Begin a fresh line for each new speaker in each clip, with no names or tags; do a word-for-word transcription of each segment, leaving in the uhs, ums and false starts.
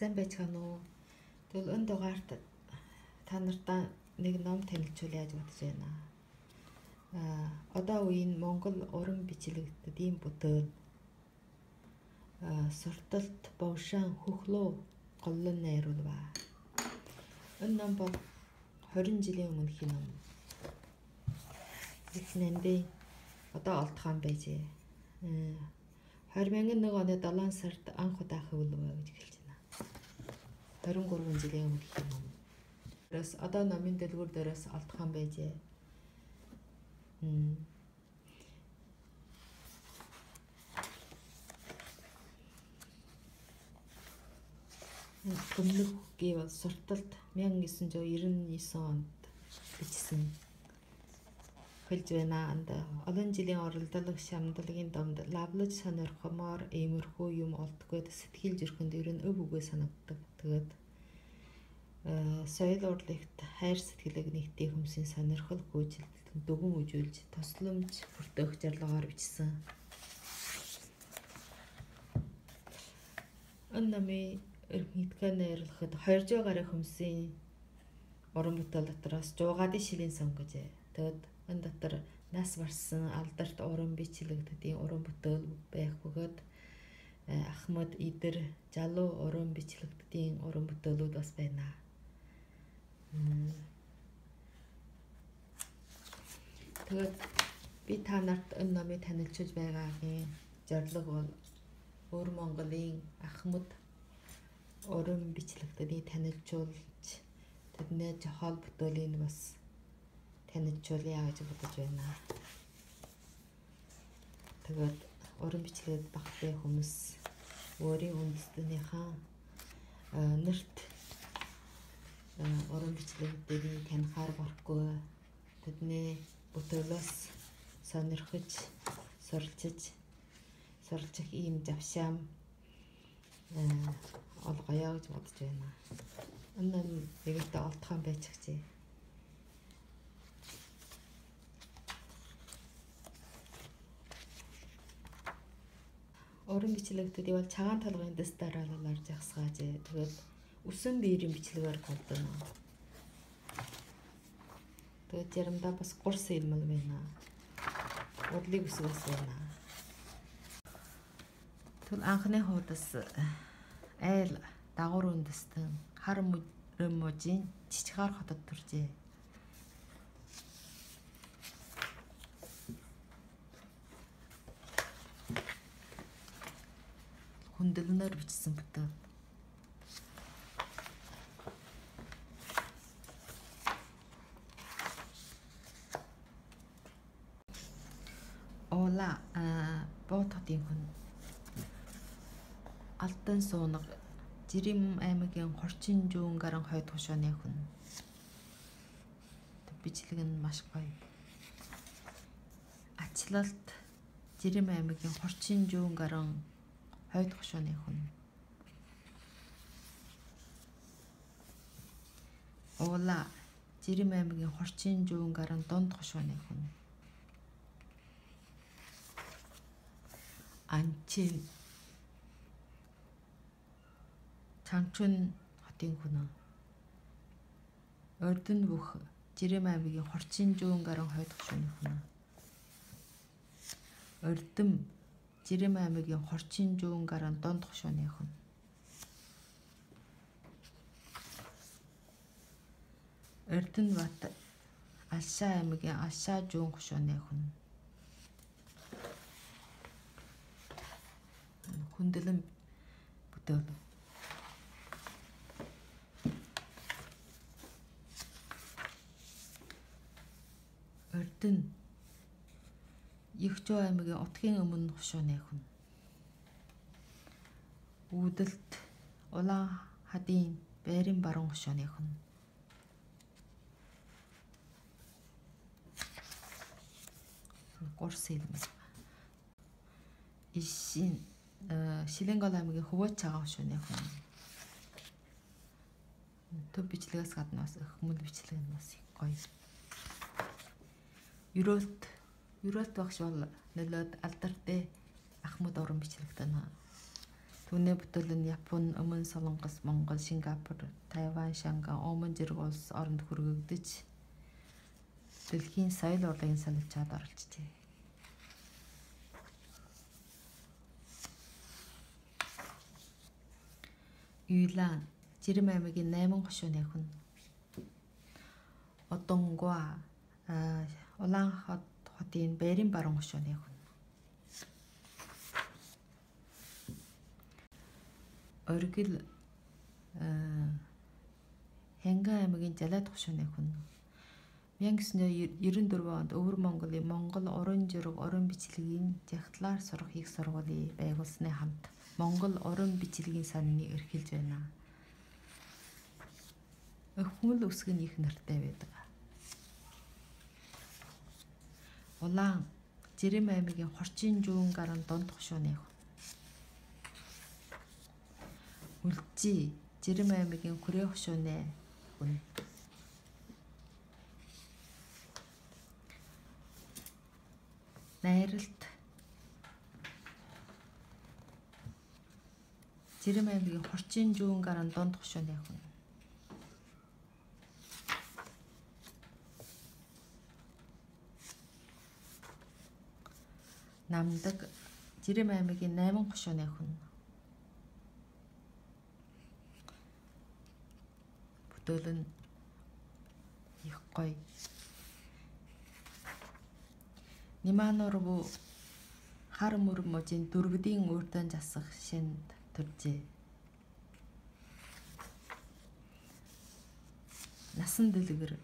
Сайн байцгаана уу? Тэгвэл энэ дугаарт та нартаа нэг ном танилцуул яаж бодож байна. Аа одоо үеийн Монгол уран бичлэгтдийн бүтээл аа сурталт бовшаан хөхлөө голлон найруулва. Энэ ном бол хорин жилийн өмнөх ном. Эхнэндээ одоо олдхон байжээ. две тысячи один оны долоон сард анх удаа хөвлөвөө гэж хэлж байна. двадцать три жилийн өмнөх ном. Тэрс одоо номын дэлгүүр дээрээс олдхон байжээ. М Гүмнэх гэвэл сурталт мянга девятьсот девяносто девять онд бичсэн. Хэлж байна. Анд олон жилийн оролдлого шамдлагын домд лавлаж сонирхомоор иймэрхүү юм олдгоод сэтгэл зүрхэнд ер нь өв үгээ санагддаг. Тэгээд соёл урлагт хайр сэтгэлэг нэгтээ хүмсийн сонирхол хөөжилтөнд дүгэн үжүүлж тусламж бүртгэх зорилгоор бичсэн. Энэ номын эрдэмтдээ найруулахад two hundred гаруй хүмсийн уран бүтээл дотроос жуугаадын шилийн сон гэж. Тэгэд энэ дотор нас барсан алдарт уран бичлэгтдийн уран бүтээл байх бөгөөд Ахмад Идэр залуу уран бичлэгтдийн уран бүтээлүүд бас байна. Тэгээд би та нарт энэ номыг танилцуулж байгаагийн зорилго бол өвөр Монголын Ахмад уран бичлэгтдийг танилцуулж тэдний жохол бүтээлийг бас танилцуулъя гэж бодож байна. Тэгээд уран бичлэгт багтай хүмүүс өөрийн үндэстнийхээ нэрт уран бичлэгтдийг танихаар барахгүй тэдний бүтээлээс сонирхож суралцж суралцах ийм завшаам олгоё гэж бодож байна. Энэ нэгэнтээ олдхон байцгаажээ. Уран бичлэгтүүдийг бол цагаан толгойн дэс дараалалаар жагсгаажээ. Тэгээд үсэн биерийн бичлэгээр голдоно. Тэгээд заримдаа бас гурс илмэл байна. Урлыг үсгээс байна. Тэгвэл анхны хуудас айл дагуур үндэстэн хар мужийн Чичгаар хотод төржээ. Хүндлэнээр бичсэн бүтээл. Ола боототын хүн. Алтан суунаг Жирим аймгийн Хорчин жуун гарan хойд хошооны хүн. Бичлэг нь маш гоё. Ачлалт Жирим аймгийн Хорчин жуун гарan хойд хошооны хүн. Ола Жирим аймгийн Хорчин жуун гарan донд хошооны хүн. Анчин Чанчун хотын хүн. Ордон бүх Жирим аймгийн Хорчин жуун гарan хойд хошооны хүн. Ордон Жирим аймгийн Хорчин жуун гарan донд хошооны хүн. Ордон бат Алшаа аймгийн Алшаа жуун хошооны хүн. Хүндлэн бүтээл. Ордон Ягчуу аймгийн Утгийн өмнө хошооны хүн. Үүдэлт Улаан хадын Байрын баруун хошооны хүн. Гурс илмэл. Ишин Шилэнгол аймгийн Хөвөөч цагаан хошооны хүн. Төв бичлэгээс гадна бас хмүл бичлэг нь бас гоё. Юролт Юролт багш бол нөлөөд алдартай Ахмад уран бичлэгтэн. Түүний бүтээл нь Япон, Өмнө Солонгос, Монгол, Сингапур, Тайван, Шангай, Омон зэрэг улс оронд хүргэгдэж дэлхийн соёл урлагийн солилцоод оролцжээ. Юйлан Жирэмн аймгийн найман хошууны хүн. Одонгуа Улаанхот хотын Бээрийн баруун хошууны хүн. Оргил Хянган аймгийн Жалаад хошууны хүн. мянга девятьсот девяносто четыре онд Өвөр Монголын Монгол уран зураг уран бичлэгийн жагтлаар сурах их сургуулийг байгуулсны хамт Монгол уран бичлэгийн санааны эрхэлж байна. Өвхмөл үсэг нь их нартай байдаг. Улаан Жирэмн аймгийн Хорчин Жүүн гарын Дунд хошууны хүн. Үлжи Жирэмн аймгийн Хүрээ хошууны хүн. Найралт Жирэмн аймгийн Хорчин Жүүн гарын Дунд хошууны хүн. Намдаг Жирэмн аймгийн найман хошууны хүн. Бүтээл нь их гоё. Ниманорву хар мөр можийн дөрвдийн урьдан засах шинд төржээ. Насан дэлгэр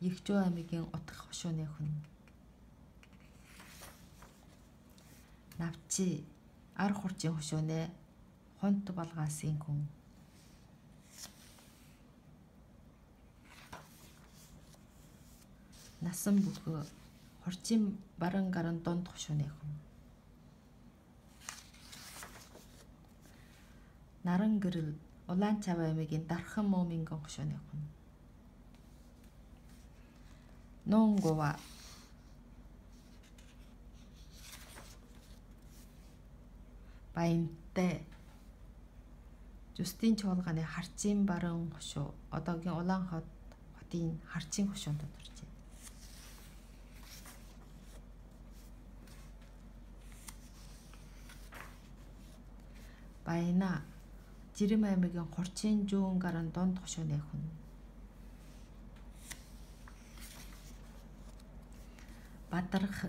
Ягчуу аймгийн Утгах хошууны хүн. Навчи Ар хурчин хошууны Хунт Балгаасын хүн. Насан бүхөө Хорчин Баран гарын Дунд хошууны хүн. Наран гэрэл Улаанчав аймгийн Дархан Мөмингэн хошууны хүн. Нонгова Баянтай Жустин чуулганы Харчин Баран хошуу одоогийн Улаанхот хотын Харчин хошуунд төржээ. Баяна Жирэмн аймгийн Хорчин Жүүн гарын Дунд хошууны хүн. Бадарх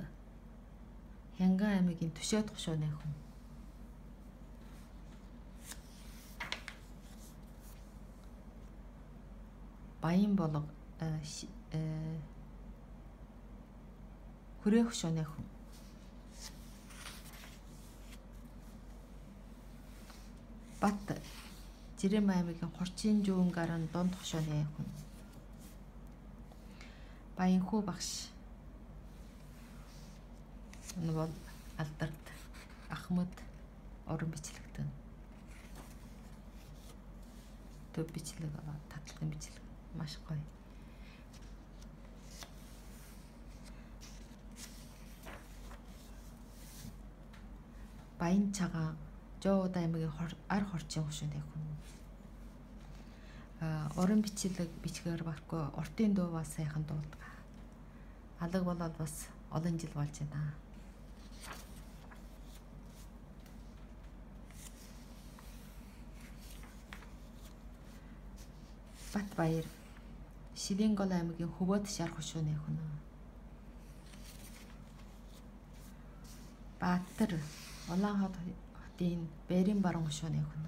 Хянган аймгийн Төшөөд хошууны хүн. Баян болго Хүрээ хошууны хүн. Бат Жирэмн аймгийн Хорчин Жүүн гарын Дунд хошууны хүн. Баянхүү багш энэ бол Алдарт Ахмад уран бичлэгтэн. Төв бичлэг аваа татлагын бичлэг маш гоё. Баян цагаан Жоод аймгийн Ар хорчин хошууны хүн. А уран бичлэг бичгээр барахгүй уртын дуу бас сайхан дуулдаг. Алаг болоод бас олон жил болж байна. Батбаяр Шилэнгол аймгийн Хөвөөд шар хошууны хүн. Баатар Улаанхот хотын Бээрийн баруун хошууны хүн.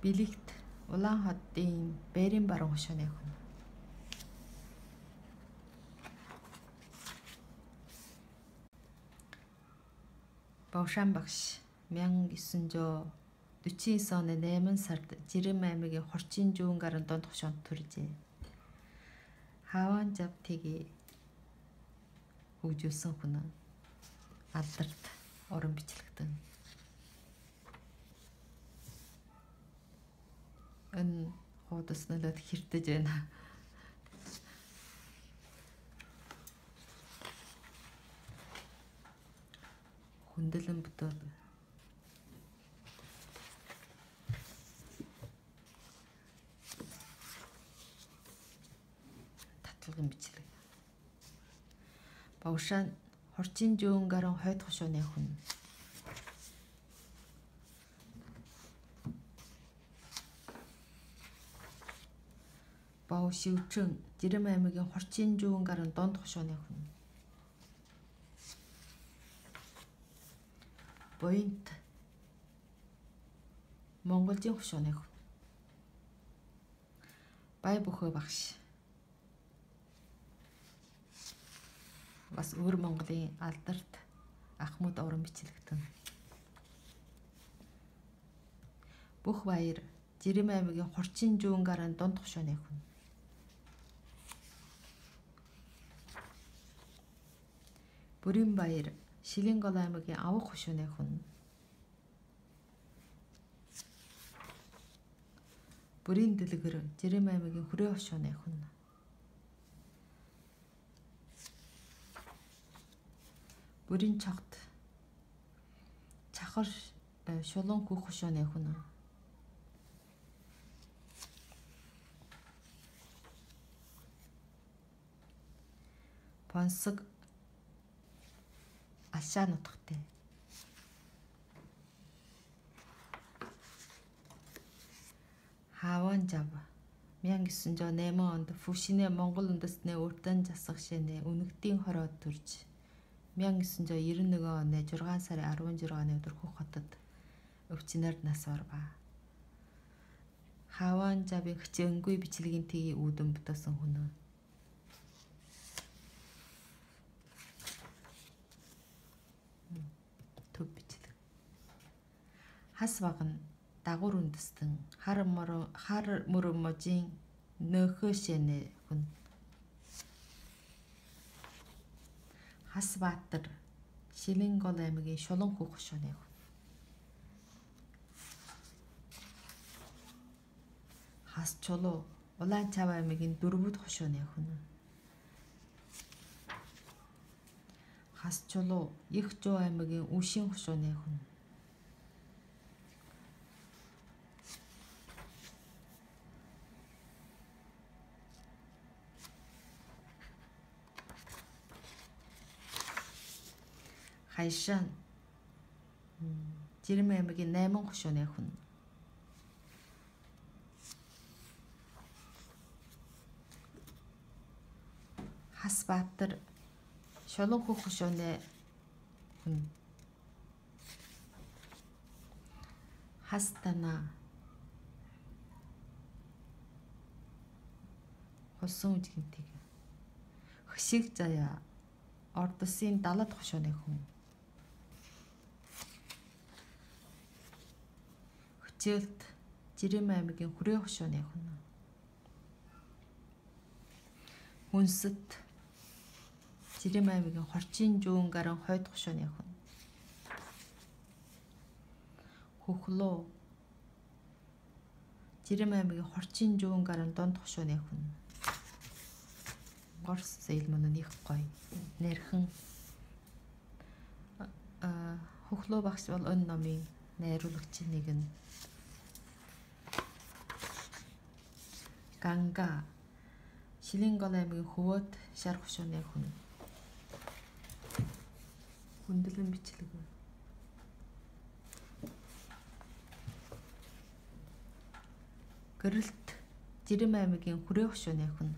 Билэгт Улаанхотын Бээрийн баруун хошууны хүн. Бовшан багш мянга девятьсот сорок девять оны найман сард Жирэмн аймгийн Хорчин Жүүн гарын Дунд хошуунд төржээ. Хаван Жавтгийг хөгжүүлсэн хүн. Алдарт уран бичлэгтэн. Энэ хуудас нөлөөд хэртэж байна. хүндлэн бүтээл татлагын бичлэг бавшаан хорчин жуун гарan хойд хошооны хүн бав шивчэн Жирэм аймгийн хорчин жуун гарan донд хошооны хүн Буянт Монголын хошооны хүн Бай Бөхөө багш бас өвөр Монголын алдарт Ахмад уран бичлэгтэн Бүх баяр Жирэм аймгийн хорчин жуун гарan донд хошооны хүн Бүрийн баяр Шилэнгол аймгийн авах хошооны хүн Бүрийн дэлгэр Жирэм аймгийн хүрээ хошооны хүн Бүрийн чогт Чахар шулуун хөх хошооны хүн Понсог Ашаа нутагтай Хаван жав мянга гэсэн жоо найман онд Фүшинэ Монгол үндэстний урдан засах шинэ үнэгдийн хороод төрж мянга гэсэн жоо девяносто один оны зургаан сарын арван жиргааны өдөр Хөх хотод өвчнөр нас орва. Хаван жавын хичээнгүй бичлэгийн тгий үүдэн бүтээсэн хүн төв бичлэг хас багн дагуур үндэстэн хар мөрө хар мөрөмжийн нөхөшэнэ хүн Хас Баатар Шилэнгол аймгийн шулуун хөх хошооны хүн Хас Чулуу Улаанчав аймгийн дөрвөд хошооны хүн Хас Чулуу Их Жуу аймгийн Үшийн хошооны хүн Хайшаан Жирэм аймгийн найман хошооны хүн Хас Баатар шулуун хөх хошооны хүн Хас Танаа Хосон үжигнтиг Хөшиг заяа Ордосын далад хошооны хүн Хөчөөлт Жирэм аймгийн хүрээ хошооны хүн Хүнсэт Жирэм аймгийн хорчин жуун гарan хойд хошооны хүн Хөхлөө Жирэм аймгийн хорчин жуун гарan донд хошооны хүн Горс зэйлмэн их гоё нэрхэн Хөхлөө багш бол энэ номын найруулагч нэг нь Ганга Шилэнгол аймгийн хөвөөд шар хошооны хүн хүндлэн бичлэг Гэрэлт Жирэм аймгийн хүрээ хошооны хүн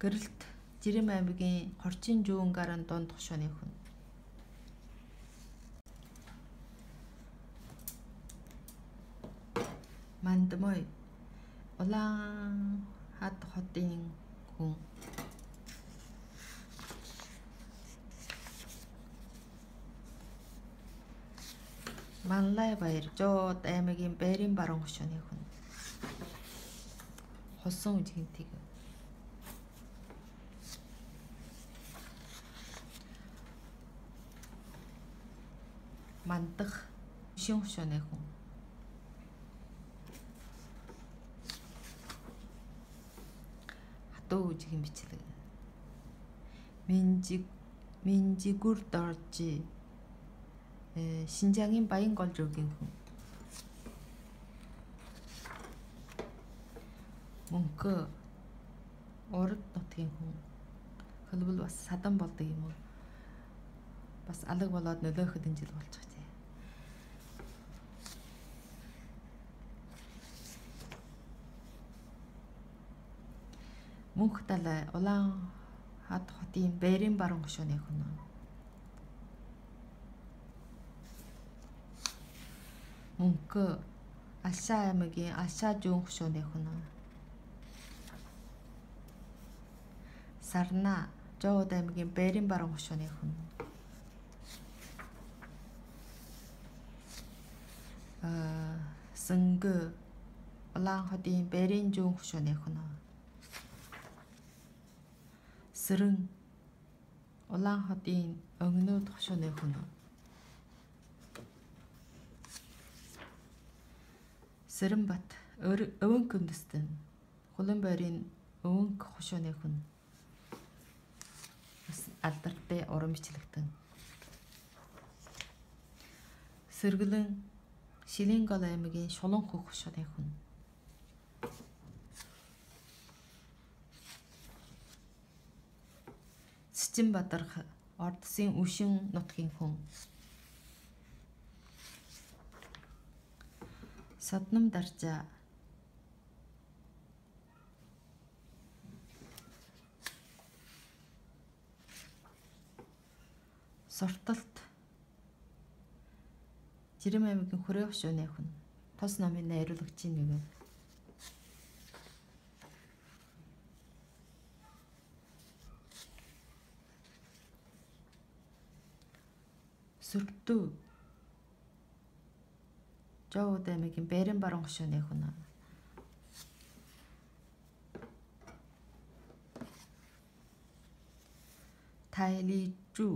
Гэрэлт Жирэм аймгийн хорчин жуун гарan донд хошооны хүн Мандмой Улаан хад хотын хүн Манлай баяр Жоод аймгийн Байрын баруун хошооны хүн Хосон үжигнтиг Мандах Үшийн хошооны хүн дуу үжигийн бичлэг. Минжиг Минжигүр Доржи э Шинжаагийн Баянголжуугийн хүн. Мөнхө Урд нутгийн хүн. Хөлбөл бас садан болдог юм уу? Бас алаг болоод нөлөөхөд энэ жил болж байгаа тийм. Мөнх далай улаан хад хотын Бээрийн баруун хошууны хүн. Мөнхө Алшаа аймгийн Алшаа зүүн хошууны хүн. Сарна Жоод аймгийн Бээрийн баруун хошууны хүн. Аа Сэнгө улаан хотын Бээрийн зүүн хошууны хүн. Сэрэн улаан хотын Өнгнөөд хошууны хүн. Сэрэнбат Өвөнг үндэстэн Хуланбойрын Өвөнг хошууны хүн. Алдартай уран бичлэгтэн. Сэргэлэн Шилэнгол аймгийн Шуланхөг хошууны хүн. Цэцэнбадар Ордсын Үшин нутгийн хүн. Содном Даржаа Сурталт Жирэм аймгийн Хүрээ хошууны хүн. Тос номын найруулагчийн нэг. Сүртүү Жоод аймгийн Бээрийн баруун хошууны хүн. Тайлижүү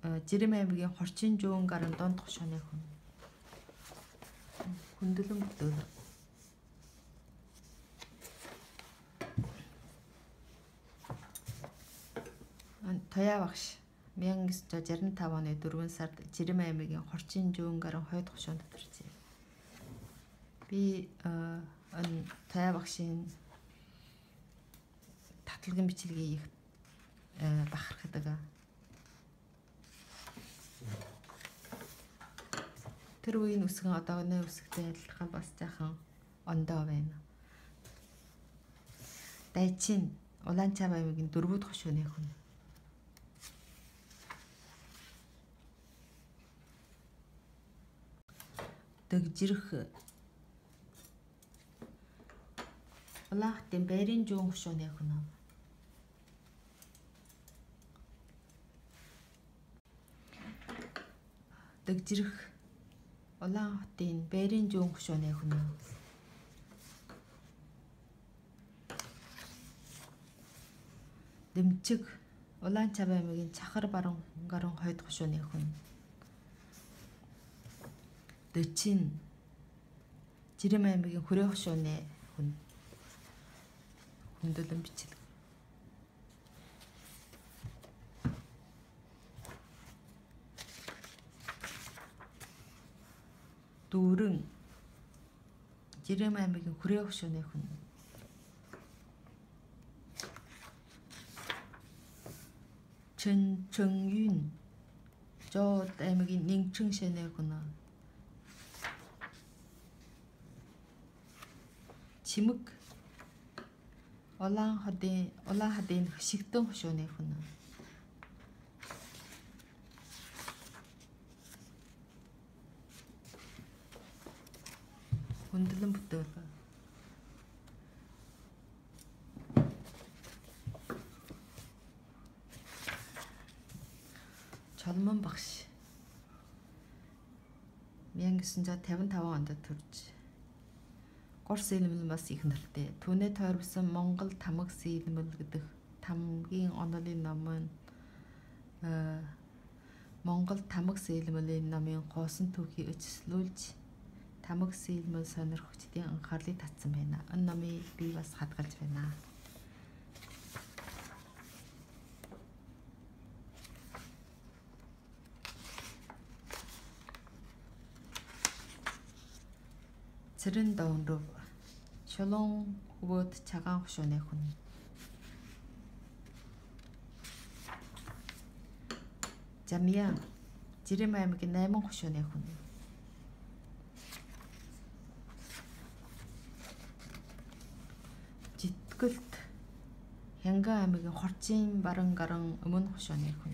Жирэм аймгийн Хорчин зүүн гарын донд хошууны хүн. Хүндлэн бүтээл. Тояа багш мянга девятьсот шестьдесят пять оны дөрвөн сард Жирэм аймгийн Хорчин зүүн гарын хойд хошуунд төржээ. Би энэ Тояа багшийн татлагын бичлэгийг их бахархдаг. Тэр үеийн үсгэн одооны үсгтэй адилхан бас жаахан ондоо байна. Дайчин Улаанчаав аймгийн дөрвөд хошууны хүн. Дэгжирх Улаан хотын Бээрийн зүүн хошууны хүн. Дэгжирх Улаан хотын Бээрийн зүүн хошууны хүн. Дэмчиг Улаанчаав аймгийн Чахар баруун гарын хойд хошууны хүн. Дөчин Жирэм аймгийн Хүрээ хошууны хүн. Хүндлэн бичлэг. Дүүрэн Жирэм аймгийн Хүрээ хошууны хүн. Чэн Чэнюн Жоод аймгийн Нингчэн шэнэ хүн. Чимэг Улаан хотын Улаан хадын Шигтэн хошууны хүн. Хүндлэн бүтээл. Чолмон багш мянга девятьсот пятьдесят пять онд төрж Горс илмэл бас их нартай. Түүнээ тойрвсон Монгол тамга сэлмэл гэдэг тамгийн онолын ном нь Монгол тамга сэлмэлийн номын гоосон түүхийг эцэслүүлж тамга сэлмэл сонирхогчдын анхаарлыг татсан байна. Энэ номыг би бас хадгалж байна. цэрэн доонров шулуун хөвөөд цагаан хушууны хүн. Замьяан Жирэм аймгийн найман хушууны хүн. Житгэлт Хянган аймгийн Хорчин баран гаран өмнө хушууны хүн.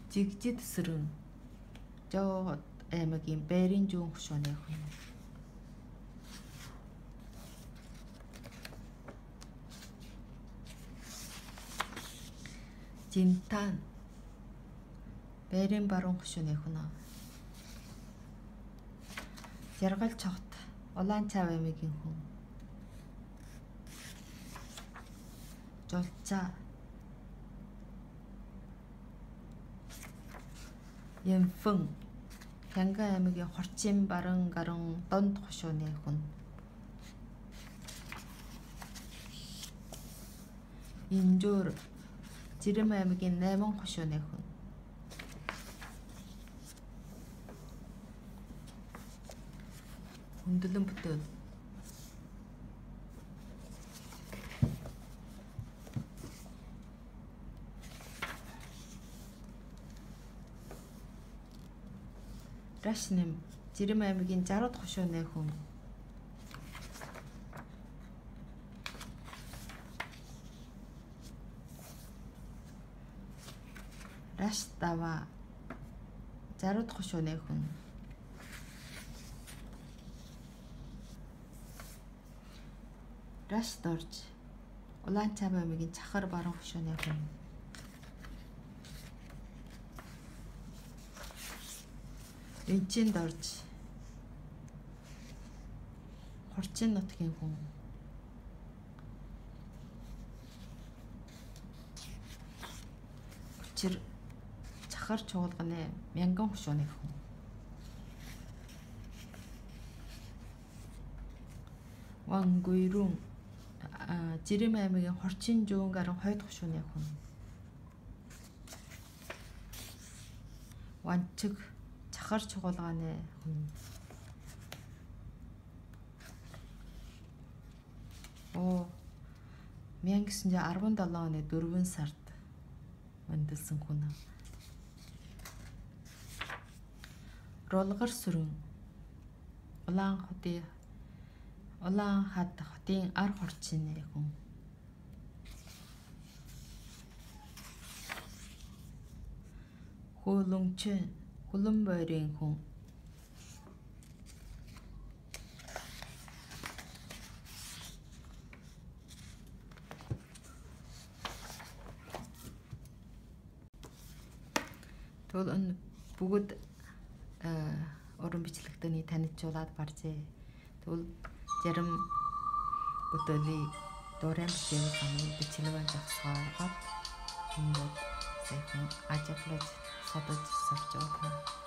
Жигжид сэрэн Жоо аймгийн Бэрийн зүүн хушууны хүн. Жинтан Бэрийн баруун хушууны хүн. Жаргал цогт Улаанчаав аймгийн хүн. Жолцаа Ямфэн Хянган аймгийн Хорчин баран гаран донд хушууны хүн. Инжуур Жирэм аймгийн найман хушууны хүн. Хүндлэн бүтээл Рашнэм Жирэм аймгийн Жарууд хушууны хүн. Раш дава Жарууд хушууны хүн. Раш дорж Улаанчаав аймгийн Чахар баруун хушууны хүн. Энчинд орж Хорчин нутгийн хүн. Учир Чахар чуулганы Мянган хушууны хүн. Вангуйрун Жирэм аймгийн Хорчин зүүн гарan хойд хушууны хүн. Ванчиг Чахар чуулганы хүн. Оо мянга гэсэн чинь арван долоо оны дөрвөн сард өндөлсөн хүн. Ролгор сүрэн Улаан хотын Улаан хад хотын ар хорчны хүн. Хөлөмчэн Хулан бойрын хүн. Тэгвэл энэ бүгд уран бичлэгтний танилцуулаад барьжээ. Тэгвэл зарим бүтээлийн дурын бичлэг санал бичлэгэн зогсоогоод ингээд сайхан ажиглаж содож сурч байгаа.